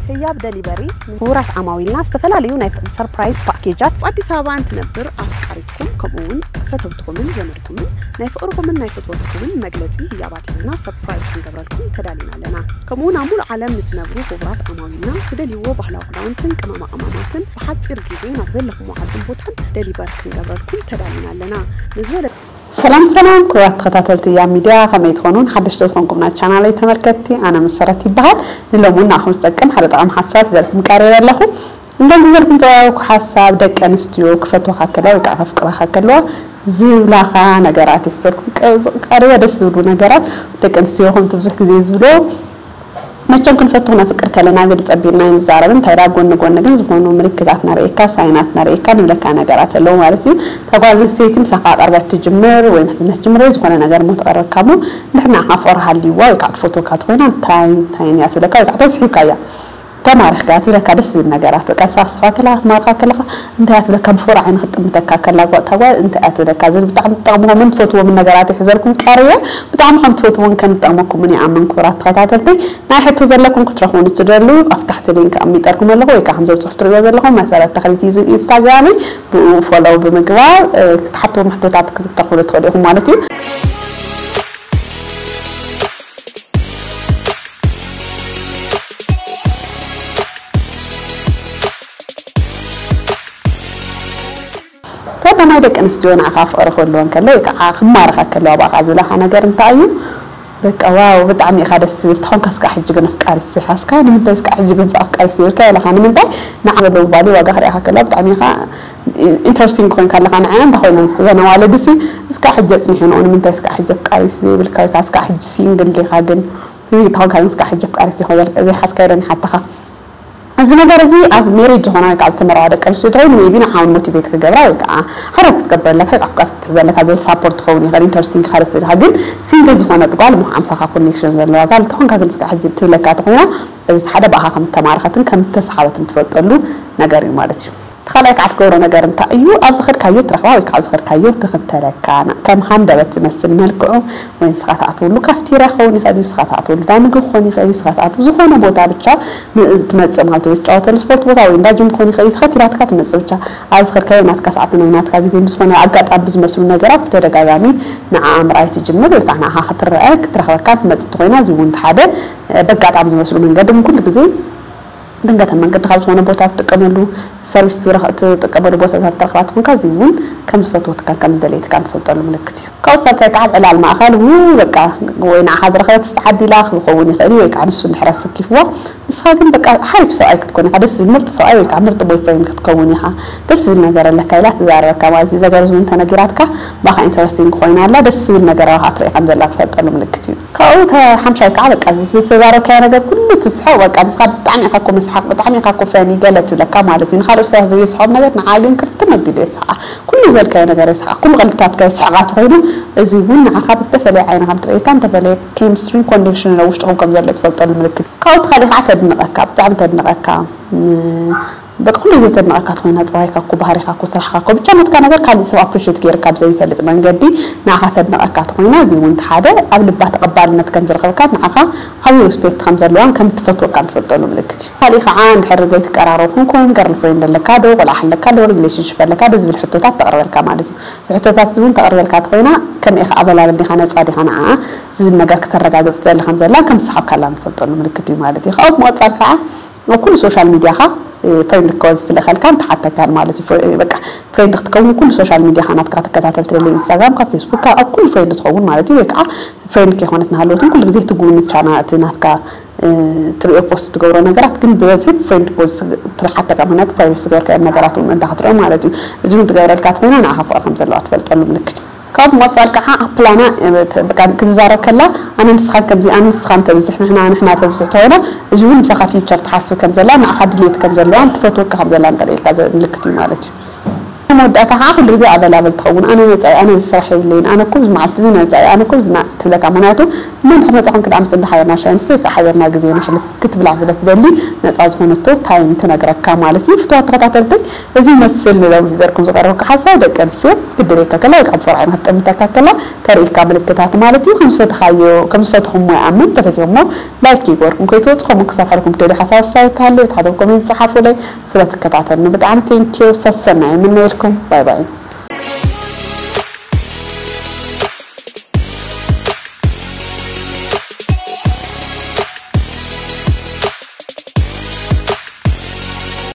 ህያብ ደሊቨሪ ንክቡራት ዓማዊልና ዝተፈላለዩ ናይ ሰርፕራይዝ ፓኬጃት። ኣብ ኣዲስ ኣበባ እንትነብር ኣፍቃሪትኩም ከምኡ እውን ፈተውትኹምን ዘመድኩምን ናይ ፍቕርኹምን ናይ ፍትወትኩምን መግለጺ ህያባት ሒዝና ሰርፕራይዝ ክንገብረልኩም ተዳሊና ኣለና። ከምኡ እውን ኣብ ሙሉእ ዓለም ንትነብሩ ክቡራት ዓማዊልና ትደልይዎ ባህላዊ ክዳውንትን ቅመማ ቅመማትን ብሓጺር ግዜ ናብ ዘለኹምዎ ዓድን ቦታን ደሊቨር ክንገብረልኩም ተዳሊና ኣለና። ንዝበለ ሰላም ሰላም ክቡራት ተኸታተልቲ ህያብ ሚድያ፣ ከመይ ትኾኑን ሓደሽቲ ዝኾንኩም ናይ ቻናለይ ተመልከትቲ፣ ኣነ መሰረት ይበሃል። ንሎሚ እውን ንዓኹም ዝጠቅም ሓደ ጠቓሚ ሓሳብ ሒዘልኩም ቀሪበ ኣለኹ። እንደም ሒዘልኩም ዝቐረብኩ ሓሳብ ደቂ ኣንስትዮ ክፈትዋኻ ከለዋ ወይ ከዓ ከፍቅራኻ ከለዋ ዝብላኻ ነገራት እዩ ሒዘልኩም ቀ- ቀሪበ፣ ደስ ዝብሉ ነገራት። ደቂ ኣንስትዮ ከምቲ ብዙሕ ግዜ ዝብሎ መቸም ክንፈቱ ክነፍቅር ከለና ግልፂ ኣቢልና ኣይንዛረብን። እንታይ ደኣ ጎኒ ጎኒ ግን ዝኾኑ ምልክታት ነርእየካ፣ ሳይናት ነርእየካ፣ ንብለካ ነገራት ኣለዉ ማለት እዩ። እታ ጓል ኣንስተይቲ ምሳኻ ቀርበት ትጅምር ወይ ምሕዝነት ትጅምር ወይ ዝኾነ ነገር እሞ ትቐርበካ እሞ፣ እንድሕር ንዓኻ ፍቕሪ ሃልይዋ ወይ ከዓ ትፈትወካ ተኾይና፣ እንታይ እንታይ እያ ትብለካ ወይ ከዓ ተስሒብካ እያ። ተማሪኽካ እያ ትብለካ ደስ ዝብል ነገራት። በቃ ንሳ ክትስሕባ ከለኻ፣ ክትማርኻ ከለኻ፣ እንታይ እያ ትብለካ፣ ብፍቕሪ ዓይኒ ክትጥምተካ ከላ ጓ- እታ ጓል እንታይ እያ ትብለካ ዝብል ብጣዕሚ ትጠቕምዎምን ትፈትዎምን ነገራት ይሕዘልኩም ቀርየ። ብጣዕሚ ከም ትፈትዎን ከም ዝጠቕመኩምን ይኣምን። ክቡራት ተኸታተልቲ፣ ናይ ሕቶ ዘለኩም ክትረኽቡን እትደልዩ ኣብ ታሕቲ ሊንክ ኣሚጠልኩም ኣለኹ ወይ ከዓ ከምዚ ኣብ ፅሑፍ ትሪእዎ ዘለኹም መሰረት ተኽሊት እዩ ኢንስታግራመይ፣ ብኡ ፎሎው ብምግባር እ፣ ክትሓትዎም ሕቶታት ክትረኽቡሉ ትኽእሉ ኢኹም ማለት እዩ። ቀዳማይ ደቂ ኣንስትዮ ንዓኻ ፍቕሪ ክህልወን ከሎ ወይ ከዓ ክማረኻ ከለዋ ብኣኻ ዝብላኻ ነገር እንታይ እዩ? በቃ ዋው ብጣዕሚ ኢኻ ደስ ዝብል ተኾንካ እስካ ሕጂ ግን ኣፍቃሪት ዘይሓዝካ ንምንታይ እስካ ሕጂ ግን ኣፍቃሪት ዘይብልካ ይብላኻ። ንምንታይ ንዓ ዘለዉ ቫልዩ ዋጋ ክሪኣኻ ከለዋ ብጣዕሚ ኢኻ ኢንተረስቲንግ ኮይንካ ኣለኻ ንዓያ እንታይ ኮይነን እዘን ኣዋልድሲ እስካ ሕጂ ኣፅኒሑ ንኡ ንምንታይ እስካ ሕጂ ኣፍቃሪት ዘይብልካ ወይ ከዓ እስካ ሕጂ ሲንግል ዲኻ ግን ትብል ተኾንካ ግን እስካ ሕጂ ኣፍቃሪት ዘይኮ- ዘይሓዝካ ኢለን ይሓተኻ። እዚ ነገር እዚ ኣብ ሜሪጅ ዝኾና ወይ ከዓ ዝተመርዓ ደቂ ኣንስትዮ ተኾይኑ ሜቢ ንዓውን ሞቲቬት ክገብራ ወይ ከዓ ሓደ ክትገብረለካ ወይ ከዓ ኣፍቃር ክትሕዘለካ ዝብል ሳፖርት ክኸውን ይኽእል ኢንተረስቲንግ ክኻደ ስልካ ግን ሲንግል ዝኾነት ጓል እሞ ኣምሳኻ ኮኔክሽን ዘለዋ ጋል ተኾንካ ግን ስጋ ሕጂ ትብለካ ተኾይና እዚ ሓደ ብኣኻ ከም ተማረኸትን ከም ተሰሓበትን ትፈልጠሉ ነገር እዩ ማለት እዩ። እቲ ካልኣይ ከዓ ትገብሮ ነገር እንታይ እዩ? ኣብ ዝኸድካዮ ትረኽባ ወይ ከዓ ኣብ ዝኸድካዮ ትኽተለካ ና- ከም ሃንደበት ዝመስል መልክዑ ወይ ንስኻ ትኣትወሉ ካፍቴርያ ክኸውን ይኽእል እዩ፣ ንስኻ ትኣትወሉ ዳምግቢ ክኸውን ይኽእል እዩ፣ ንስኻ ትኣትው ዝኾነ ቦታ ብቻ ም- ትመጽእ ማለት ወይ ትጫወተሉ ስፖርት ቦታ ወይ እንዳ ጅም ክኾን ይኽእል እዩ፣ ተኸቲላትካ ትመጽእ ብቻ ኣብ ዝኸድካዮ ናትካ ሰዓትን ኣብ ናትካ ግዜ ብዝኾነ ኣጋጣሚ ብዝመስሉ ነገራት ብተደጋጋሚ ንዓኣ ምርኣይ ትጅምር ወይ ከዓ ንዓኻ ክትረአ ክትረኽበካ ትመጽእ ተኾይና እዚ እውን ሓደ በጋጣሚ ዝመስሉ መንገዲ ግን ኩሉ ግዜ ድንገት ኣብ መንገዲ ካብ ዝኾነ ቦታ ትጥቀመሉ ሰርቪስ ትረኽ- ትጥቀመሉ ቦታታት ትረኽባ ትኾንካ እዚ እውን ከም ዝፈትወትካን ከም ዝደለየትካን ትፈልጠሉ ምልክት እዩ። ካብኡ ሳልሳይ ከዓ ኣብ ዕላል ማእኸል ው በቃ ወይ ንዓኻ ዝረኸበት ዝተዓዲላ ክኸውን ይኽእል እዩ ወይ ከዓ ንሱ እንድሕር ኣሰኪፍዋ ንስኻ ግን በቃ ሓሪፍ ሰብኣይ ክትኮን ኢኻ፣ ደስ ዝብል ምርጥ ሰብኣይ ወይ ከዓ ምርጥ ቦይፍሬንድ ክትከውን ኢኻ፣ ደስ ዝብል ነገር ኣለካ ኢላ ትዛረበካ ማለት እዩ። ዘገርዝ እውን ተነጊራትካ ባኻ ኢንተረስቲንግ ኮይና ኣላ ደስ ዝብል ነገር ኣባኻ ትርኢ ከም ዘላ ትፈልጠሉ ምልክት እዩ። ካብኡ ሓምሻይ ከዓ በቃ ዝተዛረብካዮ ነገር ኩሉ ትስሕቕ በቃ ንስኻ ብጣዕሚ ኢኻ እኮ መስሓቕ ብጣዕሚ ኢኻ እኮ ፈኒ ገለ ትብለካ ማለት እዩ። ንካልኦት ሰባት ዘየስሖም ነገር ንዓ ግን ክርትም ኣቢሉ የስሓቓ። ኩሉ ዝበልካዮ ነገር የስሓቕ ኩሉ ቀልድታትካ የስሕቓ ተኾይኑ እዚ እውን ንዓኻ ብተፈለየ ዓይኒ ከም ትርእየካ እንተፈለየ ኬሚስትሪን ኮኔክሽንን ኣብ ውሽጥኹም ከም ዘሎ ትፈልጠሉ ምልክት እዩ። ካብኡ ተኻሊ ከዓ ተድንቐካ ብጣዕሚ ተድንቐካ በቃ ኩሉ ግዜ ተድንቐካ ተኾይና ፀባይካ እኮ ባህሪኻ እኮ ስራሕካ እኮ ብቻ ናትካ ነገር ካሊእ ሰብ ኣፕሪሼት ገይርካ ብዘይፈልጥ መንገዲ ንዓኻ ተድንቐካ ተኾይና እዚ እውን ሓደ ኣብ ልባ ተቐባልነት ከም ዝረኸብካ ንዓኻ ዓብዪ ሪስፔክት ከም ዘለዋን ከም ትፈትወካን ትፈልጠሉ ምልክት እዩ። ካሊእ ከዓ እንድሕር ዘይትቀራረቡ ኮንኩም ገርል ፍሬንድ ኣለካ ዶ ቆልዓ ኣለካ ዶ ሪሌሽንሽፕ ኣለካ ዶ ዝብል ሕቶታት ተቕርበልካ ማለት እዩ። እዚ ሕቶታት እዚ እውን ተቕርበልካ ተኾይና ከመይ ኢኻ ኣበላብል ዲኻ ነፃ ዲኻ ንዓኣ ዝብል ነገር ክተረጋግፅ ትደሊ ከም ዘላ ከም ዝሰሓብካላ ንፈልጠሉ ምልክት እዩ ማለት እዩ። ካብኡ ብምቕፃል ከዓ ኣብ ኩሉ ሶሻል ሚድያኻ ፍሬንድ ሪኮስት ትልእኸልካን ትሓተካን ማለት እዩ። በቃ ፍሬንድ ክትከውን ኩሉ ሶሻል ሚድያኻ ናትካ ክትከታተል ትደሊ ኢንስታግራምካ ፌስቡክካ ኣብ ኩሉ ፍሬንድ ትኸውን ማለት እዩ። ወይ ከዓ ፍሬንድ ከይኮነት ናሃለወትን ኩሉ ግዜ ትጉብኒ ቻና እቲ ናትካ ትሪኦ ፖስት ትገብሮ ነገራት ግን ብበዝሒ ፍሬንድ ሪኮስት ትሓተካ ምክንያቱ ፕራይቬት ዝገበርካዮም ነገራት እውን ምእንታ ክትሪኦ ማለት እዩ። እዚ እውን ትገብረልካ ተኮይና ንዓኻ ፍቅሪ ከም ዘለዋ ትፈልጠሉ ምልክት እዩ። ካብ ምቕፃል ከዓ ኣብ ፕላና ክትዛረብ ከላ ኣነ ንስኻን ከምዚ ኣነ ንስኻን ተብዝሕ ንሕና ንሕና ተብዝሕ ተኮይና እዚ እውን ምሳኻ ፊውቸር ትሓስብ ከም ዘላ ንዓኻ ድሌት ከም ዘለዋን ትፈትወካ ከም ዘላን ተርእየካ ምልክት እዩ ማለት እዩ። መወዳእታ ከዓ ኩሉ ግዜ ኣበላበል ትኸውን። ኣነ ነፃ እየ፣ ኣነ እዚ ስራሕ የብለይን፣ ኣነ እኮ እዚ መዓልቲ እዚ ነፃ እየ፣ ኣነ እኮ እዚ ና-፣ ትብለካ። ምክንያቱ እሞ እንድሕር መፃኹም ክዳኣ ምስ እንዳ ሓቢርና ሻሂ ንስተይ፣ ከዓ ሓቢርና ግዜ ነሕልፍ ክትብላ ስለ ትደሊ ነፃ ዝኾነቶ ታይም ትነግረካ ማለት እዩ። ፍትዋት ተኸታተልተይ፣ እዚ ይመስል ንሎሚ ሒዘልኩም ዝቐረብኩ ሓሳብ። ደቂ ኣንስትዮ ግድለካ ከላ ወይ ከዓ ብፈርዖን ክትጠምተካ ከላ ተርእካ ምልክታት ማለት እዩ። ከም ዝፈተኻዮ፣ ከም ዝፈተኹሞ ይኣምን። ተፈቲኹሞ ላይክ ይግበርኩም ከይትወፁ። ከምኡ ክሰርሐልኩም ትደልዩ ሓሳብ ኣስተያየት ተሃልዩ፣ ታሕቲ ኮሜንት ጸሓፉለይ። ስለትከታተሉኒ ብጣዕሚ ቴንኪዩ። ሰሰና ይምነየልኩም። ባይ ባይ።